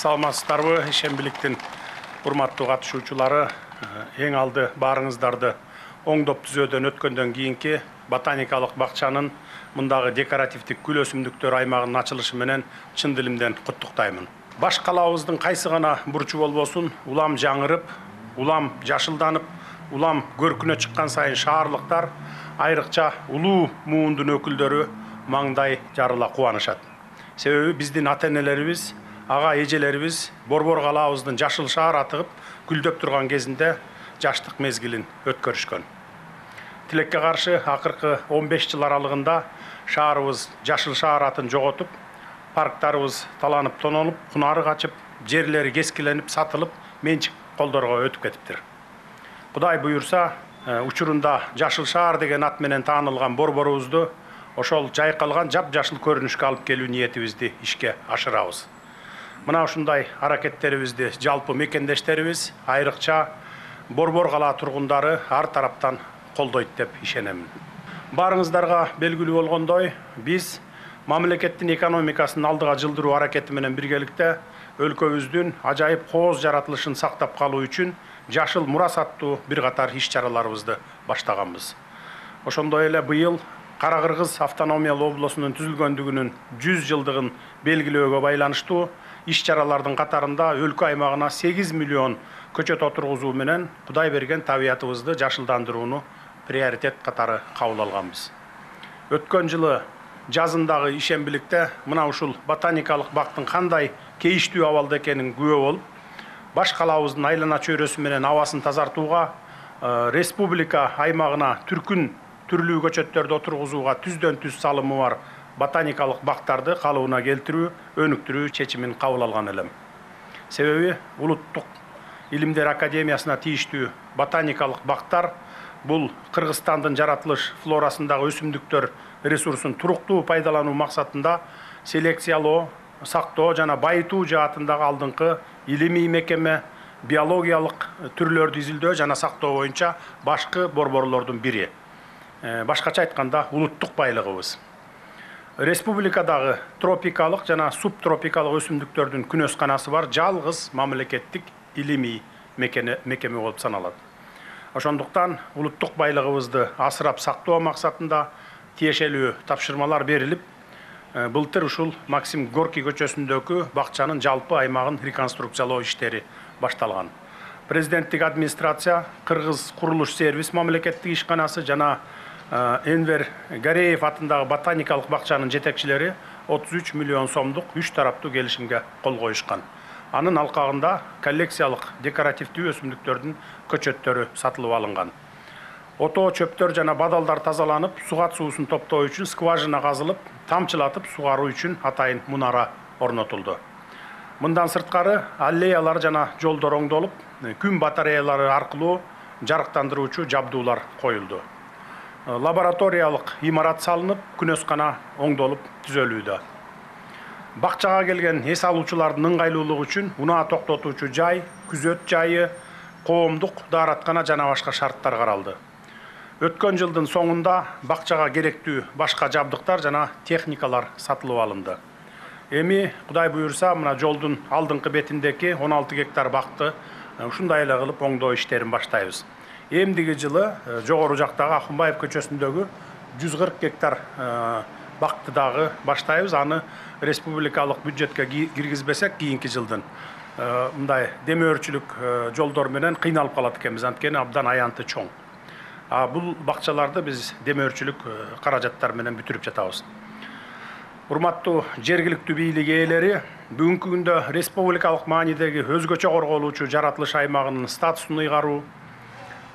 Саламатсыздарбы, ишенбиликтин урматтуу катышуучулары, эң алды баарыңыздарды оңдоп түзөөдөн өткөндөн кийинки ботаникалык бакчанын мындагы декоративдик гүл өсүмдүктөр аймагынын ачылышы менен чын дилимден куттуктаймын. Баш калаабыздын кайсы гана бурчу болбосун, улам жаңырып, улам жашылданып, улам көркүнө чыккан сайын шаарлыктар, айрыкча улуу муундун өкүлдөрү маңдай жарыла кубанышат. Себеби биздин ата-энелерибиз, ага эжелерибиз Борбор калаабыздын жашыл шаар атыгып гүлдөп турган кезинде жаштык мезгилин өткөрүшкөн. Тилекке каршы акыркы 15 жыл аралыгында шаарыбыз жашыл шаар атын жоготуп, парктарыбыз таланып тонолуп, кунары качып, жерлери кескиленип, сатылып, менчик колдорго өтүп кетиптир. Кудай буюрса, учурунда жашыл шаар деген ат менен таанылган борборубузду ошол жайкалган жап-жашыл көрүнүшкө алып келүү ниетибизди ишке ашырабыз. Мына ушундай аракеттерибизди жалпы мекендештерибиз, айрыкча Борбор калаа тургундары ар тараптан колдойт деп ишенемин. Баарыңыздарга белгилүү болгондой, биз мамлекеттин экономикасын алдыга жылдыруу аракети менен биргеликте өлкөбүздүн ажайып кооз жаратылышын сактап калуу үчүн жашыл мурас аттуу бир катар иш-чараларыбызды баштаганбыз. Ошондой эле быйыл Кара-Кыргыз автономиялуу облусунун түзүлгөндүгүнүн 100 жылдыгын белгилөөгө байланыштуу иш-чаралардын катарында өлкө аймагына 8 миллион көчөт отургузуу менен Кудай берген табиятыбызды жашылдандырууну приоритет катары кабыл алганбыз. Өткөн жылы жазындагы ишенбиликте мына ушул ботаникалык бактын кандай кейиштүү абалда экенин күбө болуп, баш калаабыздын айлана чөйрөсү менен абасын тазартууга, республика аймагына түркүн түрлүү көчөттөрдү отургузууга түздөн түз салымы бар ботаникалык бактарды калыбына келтирүү, өнүктүрүү чечимин кабыл алган элем. Себеби Улуттук Илимдер Академиясына тийиштүү ботаникалык бактар бул Кыргызстандын жаратылыш флорасындагы өсүмдүктөр ресурсун туруктуу пайдалануу максатында селекциялоо, сактоо жана байытуу жаатындагы алдыңкы илимий мекеме, биологиялык түрлөрдү изилдөө жана сактоо боюнча башкы борборлордун бири. Башкача айтканда улуттук байлыгыбыз. Республикадагы тропикалык жана субтропикалык өсүмдүктөрдүн күнөсканасы бар жалгыз мамлекеттик илимий мекеме болуп саналат. Ошондуктан улуттук байлыгыбызды асырап сактоо максатында тиешелүү тапшырмалар берилип, былтыр ушул Максим Горький көчөсүндөгү бакчанын жалпы аймагын реконструкциялоо иштери башталган. Президенттик администрация, Кыргыз курулуш сервис мамлекеттик ишканасы жана Энвер Гареев атындагы ботаникалык бакчанын жетекчилери 33 миллион сомдук 3 тараптуу келишимге кол коюшкан. Анын алкагында коллекциялык декоративдүү өсүмдүктөрдүн көчөттөрү сатылып алынган. Отоо чөптөр жана бадалдар тазаланып, сугат суусун топтоо үчүн скважина казылып, тамчылатып сугаруу үчүн атайын мунара орнотулду. Мындан сырткары аллеялар жана жолдор оңдолуп, күн батареялары аркылуу жарыктандыруучу жабдуулар коюлду. Лабораториялык имарат салынып, күнөскана оңдолуп түзөлүүдө. Бакчага келген эс алуучулардын ыңгайлуулугу үчүн унаа токтотуучу жай, күзөт жайы, коомдук даараткана жана башка шарттар каралды. Өткөн жылдын соңунда бакчага керектүү башка жабдыктар жана техникалар сатылып алынды. Эми Кудай буюрса, мына жолдун алдыңкы бетиндеки 16 гектар бакты ушундай эле кылып оңдоо иштерин баштайбыз. Эмдиги жылы жогору жактагы Акунбаев көчөсүндөгү 140 гектар бакты дагы баштайбыз. Аны республикалык бюджетке киргизбесек, кийинки жылдын мындай демөөрчүлүк жолдор менен кыйналып калат экенбиз, анткени абдан аянты чоң. Бул бакчаларды биз демөөрчүлүк каражаттар менен бүтүрүп жатабыз. Урматтуу жергиликтүү бийлик ээлери, бүгүнкү күндө республикалык маанидеги өзгөчө корголуучу жаратылыш аймагынын статусун ыйгаруу,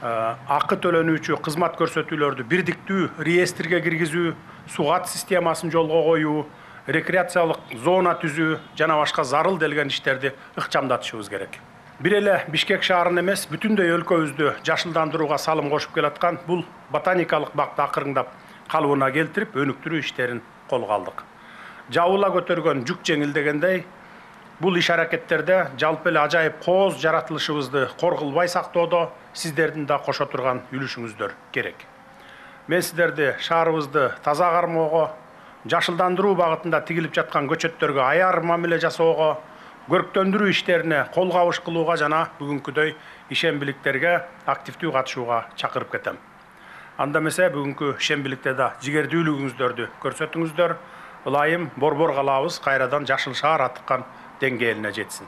акы төлөнүүчү кызмат көрсөтүүлөрдү бирдиктүү реестрге киргизүү, сугат системасын жолго коюу, рекреациялык зона түзүү жана башка зарыл делген иштерди ыкчамдатышыбыз керек. Бир эле Бишкек шаарын эмес, бүтүндөй өлкөбүздү жашылдандырууга салым кошуп келаткан бул ботаникалык бакты акырыңдап калыбына келтирип, өнүктүрүү иштерин колго алдык. Жабыла көтөргөн жүк жеңил дегендей, бул иш аракеттерде жалпы эле ажайып кооз жаратылышыбызды коргулбай сактоодо сиздердин да кошо турган үлүшүңүздөр керек. Мен сиздерди шаарыбызды таза кармоого, жашылдандыруу багытында тигилип жаткан көчөттөргө аяр мамиле жасоого, көрктөндүрүү иштерине кол кабыш кылууга жана бүгүнкүдөй ишембиликтерге активдүү катышууга чакырып кетем. Анда эмесе бүгүнкү ишембиликте да жигердүүлүгүңүздөрдү көрсөтүңүздөр. Ылайым борбор калабыз кайрадан жашыл шаар атыккан деңгээлине жетсин.